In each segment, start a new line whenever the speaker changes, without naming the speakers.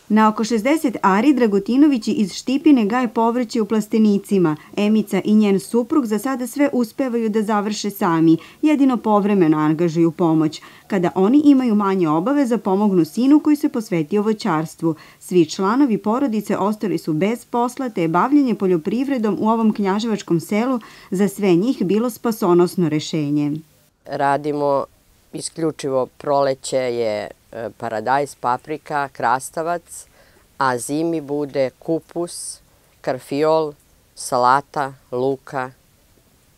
Na oko 60 ari Dragutinovići iz Štipine gaje povrće u plastenicima. Emica i njen suprug za sada sve uspevaju da završe sami, jedino povremeno angažuju pomoć. Kada oni imaju manje obaveza, pomognu sinu koji se posvetio voćarstvu. Svi članovi porodice ostali su bez posla, te je bavljenje poljoprivredom u ovom knjaževačkom selu za sve njih bilo spasonosno rešenje.
Radimo isključivo, proleće je paradajz, paprika, krastavac, a zimi bude kupus, karfiol, salata, luka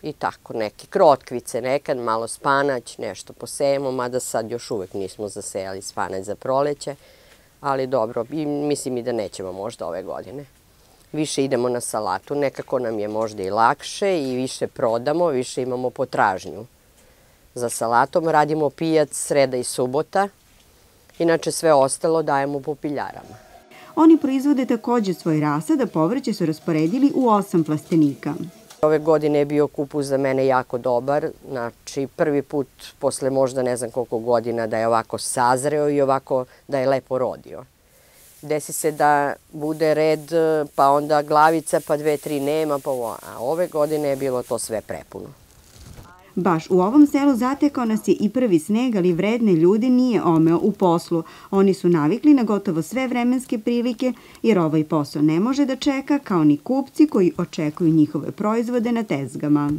i tako neki. Krotkvice nekad, malo spanać, nešto posejemo, mada sad još uvek nismo zasejali spanać za proleće, ali dobro, mislim i da nećemo možda ove godine. Više idemo na salatu, nekako nam je možda i lakše i više prodamo, više imamo potražnju. Za salatom radimo pijac sreda i subota, inače sve ostalo dajemo po piljarama.
Oni proizvode takođe svoj rasad, a povrće su rasporedili u 8 plastenika.
Ove godine je bio kupus za mene jako dobar, znači prvi put posle možda ne znam koliko godina da je ovako sazreo i ovako da je lepo rodio. Desi se da bude red, pa onda glavica, pa 2-3 nema, a ove godine je bilo to sve prepuno.
Baš u ovom selu zatekao nas je i prvi sneg, ali vredne ljude nije omeo u poslu. Oni su navikli na gotovo sve vremenske prilike, jer ovaj posao ne može da čeka, kao ni kupci koji očekuju njihove proizvode na tezgama.